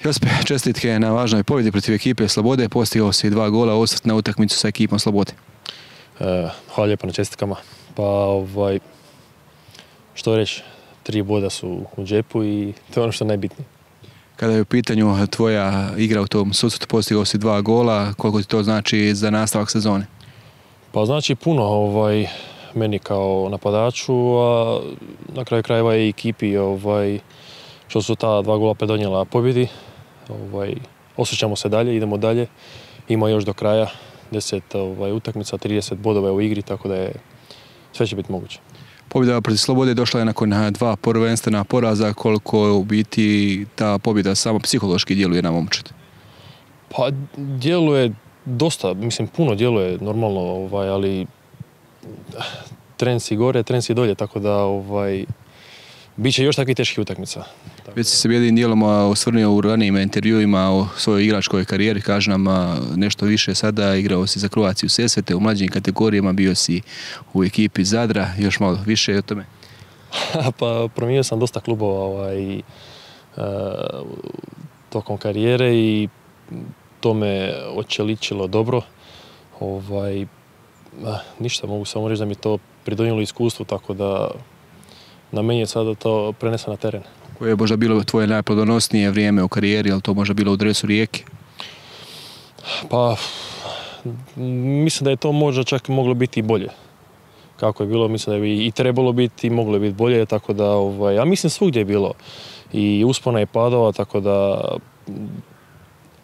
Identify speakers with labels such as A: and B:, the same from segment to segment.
A: Jospe, čestitke na važnoj pobjedi protiv ekipe Slobode, postigao si 2 gola, osvrt na utakmicu sa ekipom Slobode.
B: Hvala lijepo na čestitkama. Pa što reći, 3 boda su u džepu i to je ono što je najbitnije.
A: Kada je u pitanju tvoja igra u tom susretu, postigao si 2 gola, koliko ti to znači za nastavak sezone?
B: Pa znači puno meni kao napadaču, a na kraju krajeva i ekipi što su ta 2 gola predonijela pobjedi. Osjećamo se dalje, idemo dalje. Ima još do kraja 10 utakmica, 30 bodova u igri, tako da sve će biti moguće.
A: Pobjeda protiv Slobode došla je nakon 2 prvenstvena poraza. Koliko u biti ta pobjeda samo psihološki djeluje na momčad?
B: Pa djeluje dosta, mislim puno djeluje normalno, ali tren si gore, tren si dolje, tako da bit će još takvih teških utakmica.
A: Već si se jednim dijelom osvrnuo u ranijim intervjuima o svojoj igračkoj karijeri, kaži nam nešto više sada, igrao si za Croatiu Sesvete, u mlađim kategorijama bio si u ekipi Zadra, još malo više o tome.
B: Pa promijenio sam dosta klubova tokom karijere i to me očeličilo dobro. Ništa, mogu samo reći da mi to pridonijelo iskustvu, tako da na meni je sada to prenesa na teren.
A: Koje je možda bilo tvoje najplodonosnije vrijeme u karijeri, ali to možda bilo u dresu Rijeke?
B: Pa, mislim da je to možda čak moglo biti i bolje. Kako je bilo, mislim da bi i trebalo biti i moglo je biti bolje, tako da, a mislim svugdje je bilo i uspona i padova, tako da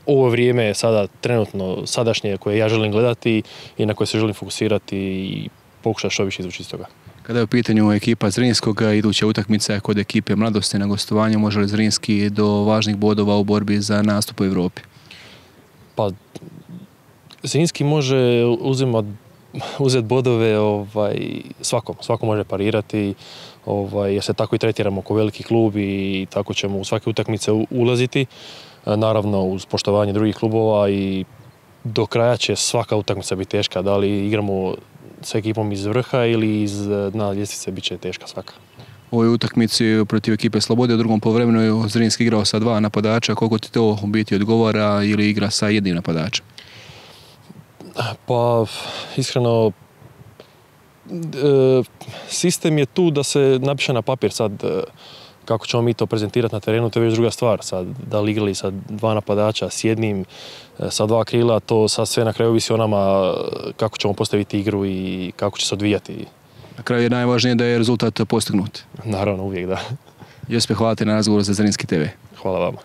B: ovo vrijeme je sada trenutno sadašnje koje ja želim gledati i na koje se želim fokusirati i pokušati što više izvući iz toga.
A: Kada je u pitanju ekipa Zrinskog, iduća utakmica kod ekipe Mladosti na gostovanju, može li Zrinski do važnih bodova u borbi za nastup u Europi?
B: Pa, Zrinski može uzeti bodove svako može parirati, jer se tako i tretiramo kao veliki klub i tako ćemo u svake utakmice ulaziti. Naravno uz poštovanje drugih klubova i do kraja će svaka utakmica biti teška, da li igramo s ekipom iz vrha ili iz dna ljestvice, bit će teška svaka.
A: U ovoj utakmici protiv ekipe Slobode u drugom poluvremenu je Zrinski igrao sa 2 napadača. Koliko ti to u biti odgovara ili igra sa jednim napadačem?
B: Pa, iskreno, sistem je tu da se napiše na papir sad kako ćemo mi to prezentirati na terenu, to je već druga stvar. Sad, da li igrali sa 2 napadača, s jednim, sa 2 krila, to sad sve na kraju ovisi o nama kako ćemo postaviti igru i kako će se odvijati.
A: Na kraju je najvažnije da je rezultat postignut.
B: Naravno, uvijek da.
A: Jospe, hvala ti na razgovoru za Zrinski TV.
B: Hvala vama.